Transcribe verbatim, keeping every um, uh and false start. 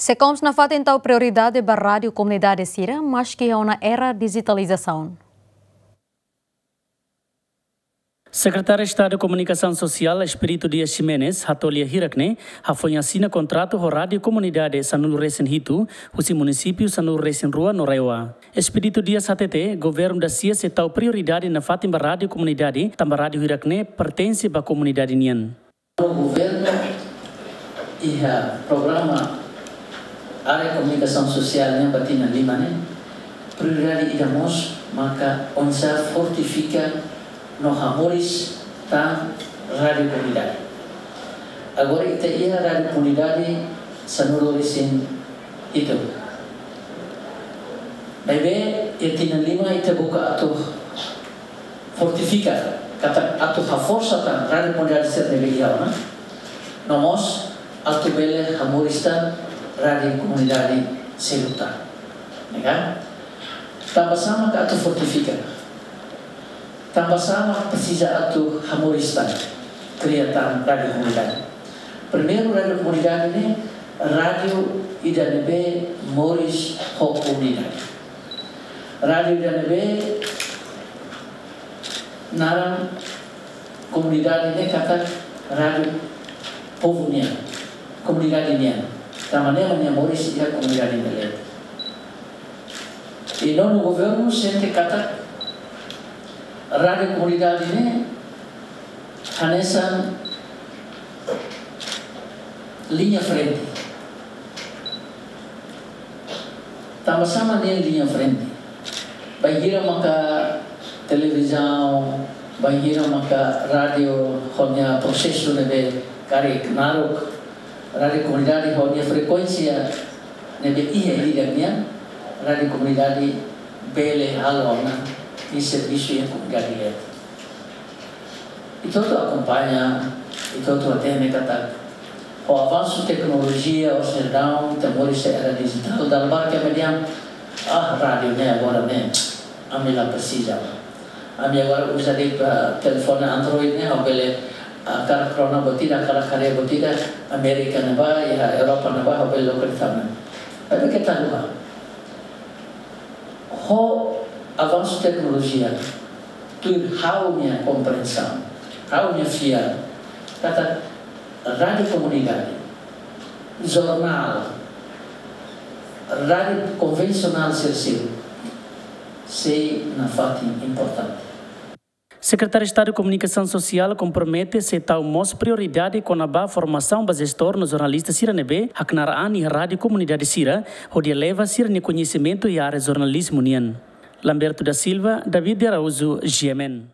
SEKOMS nafatin tau prioridade ba rádiu komunidade sira, maski iha ona era dijitalizasaun. Sekretáriu Estadu Komunikasaun Sosiál, Expedito Dias Ximenes, hato'o lia hirak ne'e, hafoin asina kontratu ho rádiu komunidade sanulu-resin-hitu, husi munisípiu sanulu-resin-rua no RAEOA. Expedito Dias hatete, governu dasia sei tau prioridade nafatin ba rádiu komunidade, tanba rádiu hirak ne'e pertense ba komunidade nian. Governu iha programa área komunikasaun sosiál nian ba tinan lima ne'e, prioridade ida mós maka oinsá fortifika no hamoris tan rádiu komunidade. Agora ita iha rádiu komunidade sanulu-resin-hitu. Maibé iha tinan lima ita buka atu fortifika, katak atu haforsa tan rádiu komunidade sira ne'ebé iha ona. No mós atu bele hamoris tan rádiu komunidade seluk tan. Ya kan? Tanba sá mak atu fortifika. Tanba sá mak presiza atu hamoris tan, kria tan rádiu komunidade. Primeiru, rádiu komunidade ne'e rádiu ida ne'ebé moris ho komunidade. Rádiu ida ne'ebé naran komunidade ne'e katak rádiu povu nian, komunidade nian. Tanba ne'e mak nia moris iha komunidade nia leet. I nonu, governu sente katak rádiu komunidade ne'e hanesan liña frente. Tanba sá mak ne'e liña frente? Bainhira maka televizaun, bainhira maka rádiu ho nia prosesu ne'ebé karik naruk, rádiu komunidade ho nia frekuénsia ne'ebé iha ida nian, rádiu komunidade bele halo ona nia servisu iha komunidade leet. Ita hotu akompaña, ita hotu hatene katak ho avansu teknolojia, ohin daudaun ita moris iha era dijitál, dala barak ema dehan, ah, rádiu ne'e agora ne'e, ami la presiza. Ami agora uza de'it, ah, telefone Android ne'e, ha'u bele, ah, hakarak rona buat ida, hakarak haree buat ida, Amérika ne'ebá, iha Europa ne'ebá, ha'u bele loke de'it tan. Maibé keta haluha. Ho avansu teknolojia, tuir ha'u-nia komprensaun, ha'u-nia fiar, katak rádiu komunidade, jornál, rádiu konvensionál sira seluk, sei nafatin importante. Sekretáriu Estadu Komunikasaun Sosiál kompromete sei tau mós prioridade kona-ba formasaun ba jestór no jornalista sira ne'ebé haknaar an iha rádiu komunidade sira, hodi eleva sira-nia koñesimentu iha área jornalizmu nian. Lamberto da Silva, David de Araújo, G M N.